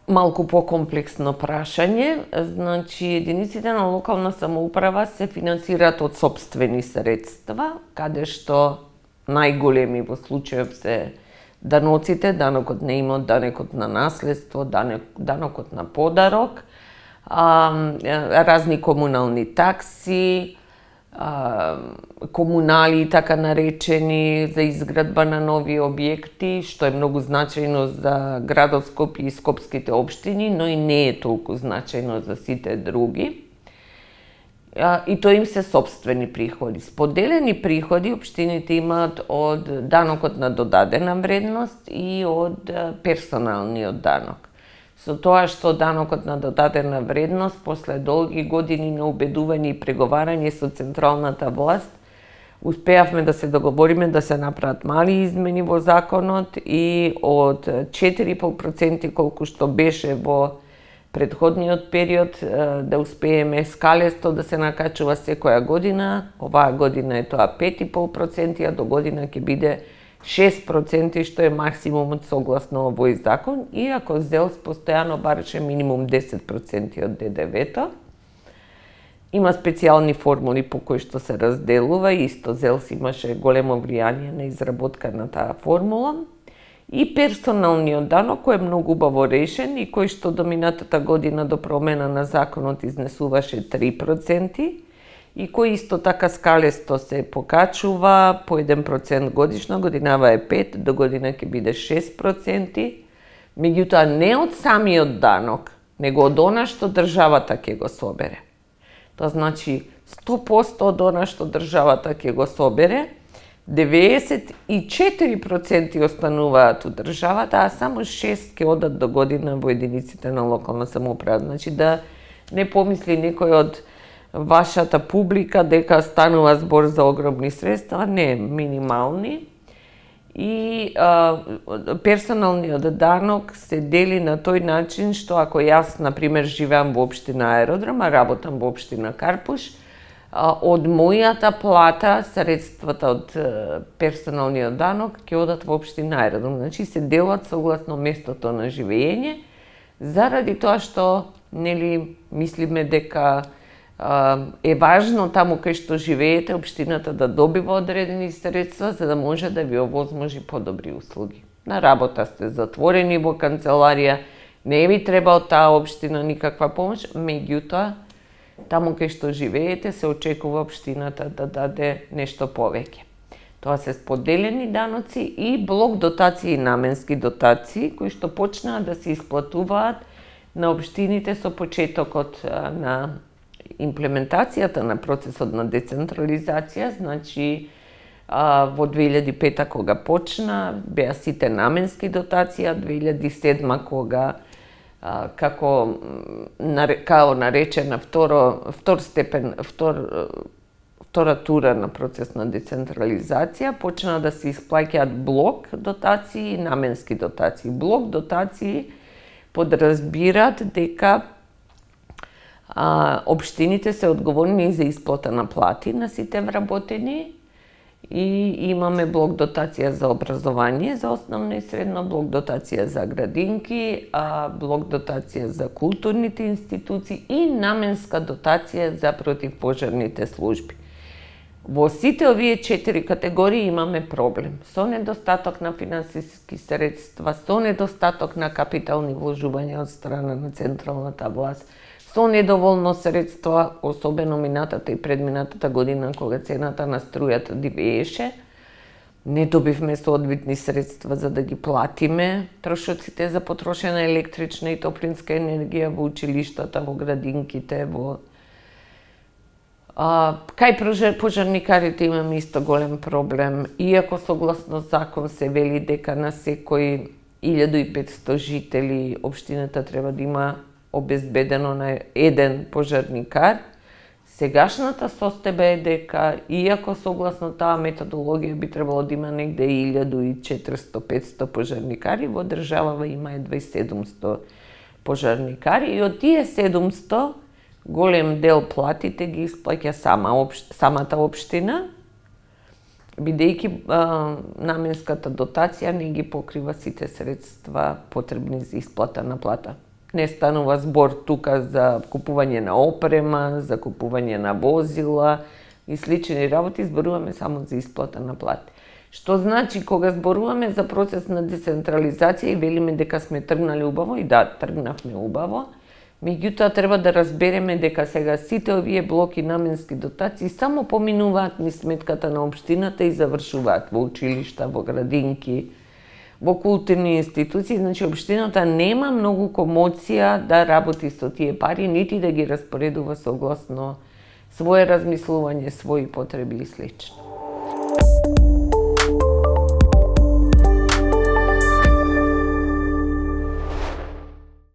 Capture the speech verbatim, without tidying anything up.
малку покомплексно прашање. Значи, единиците на локална самоуправа се финансираат од сопствени средства, каде што најголеми во случајов се даноците, данокот на имот, данокот на наследство, данокот на подарок, разни комунални такси, комунали така наречени за изградба на нови објекти, што е многу значајно за градот Скопје и скопските општини, но и не е толку значајно за сите други. И тоа им се сопствени приходи. Споделени приходи општините имаат од данокот на додадена вредност и од персоналниот данок. Со тоа што данокот на додадена вредност, после долги години на убедување и преговарање со централната власт, успеавме да се договориме да се направат мали измени во законот и од четири и пол проценти колку што беше во предходниот период, да успееме скалесто да се накачува секоја година. Оваа година е тоа пет и пол проценти, а до година ќе биде шест проценти, што е максимумот согласно овој закон, иако ЗЕЛС постојано бараше минимум десет проценти од Д Д В-то. Има специјални формули по кои што се разделува, исто ЗЕЛС имаше големо влијание на изработка на таа формула. И персоналниот данок, кој е многу убаво решен и кој што до минатата година до промена на законот изнесуваше три проценти, и кој исто така скалесто се покачува по еден процент годишно, годинава е пет, до година ќе биде шест проценти, меѓутоа не од самиот данок, него од она што државата ќе го собере. Тоа значи сто проценти од она што државата ќе го собере, деветдесет и четири проценти остануваат у државата, а само шест ќе одат до година во единиците на локална самоуправа. Значи да не помисли некој од вашата публика дека станува збор за огромни средства, не, минимални. И а, персоналниот данок се дели на тој начин што ако јас, например, живеам во општина Аеродром, а работам во општина Карпуш, а, од мојата плата, средствата од персоналниот данок ќе одат во општина Аеродром. Значи се делат согласно местото на живење, заради тоа што, нели, мислиме дека е важно таму кај што живеете општината да добива одредени средства за да може да ви овозможи подобри услуги. На работа сте затворени во канцеларија, не ви треба од таа општина никаква помош, меѓутоа таму кај што живеете се очекува општината да даде нешто повеќе. Тоа се споделени даноци и блок дотации и наменски дотации кои што почнаа да се исплатуваат на општините со почетокот на имплементацијата на процесот на децентрализација. Значи во две илјади и пета кога почна, беа сите наменски дотации, а две илјади и седма кога како као наречена второ втор степен втор втора тура на процес на децентрализација, почна да се исплаќаат блок дотации и наменски дотации. Блок дотации подразбираат дека А, општините се одговорни за исплата на плати на сите вработени и имаме блок дотација за образование за основно и средно, блок дотација за градинки, а, блок дотација за културните институции и наменска дотација за противпожарните служби. Во сите овие четири категории имаме проблем со недостаток на финансиски средства, со недостаток на капитални вложувања од страна на централната власт, со недоволно средства, особено минатата и предминатата година кога цената на струјата дивееше. Не добивме соодветни средства за да ги платиме трошоците за потрошена електрична и топлинска енергија во училиштата, во градинките, во А, кај пожарникарите имаме исто голем проблем, иако согласно закон се вели дека на секој илјаду и петсто жители општината треба да има обезбедено на еден пожарникар. Сегашната состојба е дека, иако согласно таа методологија би требало да има негде илјаду и четиристо до петсто пожарникари, во државава има едва и седумсто пожарникари и од тие седумсто голем дел платите ги исплаќа сама опш... самата општина, бидејќи наменската дотација не ги покрива сите средства потребни за исплата на плата. Не станува збор тука за купување на опрема, за купување на возила и слични работи, зборуваме само за исплата на плати. Што значи, кога зборуваме за процес на децентрализација и велиме дека сме тргнали убаво, и да, тргнавме убаво, меѓутоа треба да разбереме дека сега сите овие блоки наменски дотации само поминуваат низ сметката на општината и завршуваат во училишта, во градинки, во културни институции. Значи, општината нема многу комоција да работи со тие пари, нити да ги распоредува согласно свое размислување, своји потреби и слично.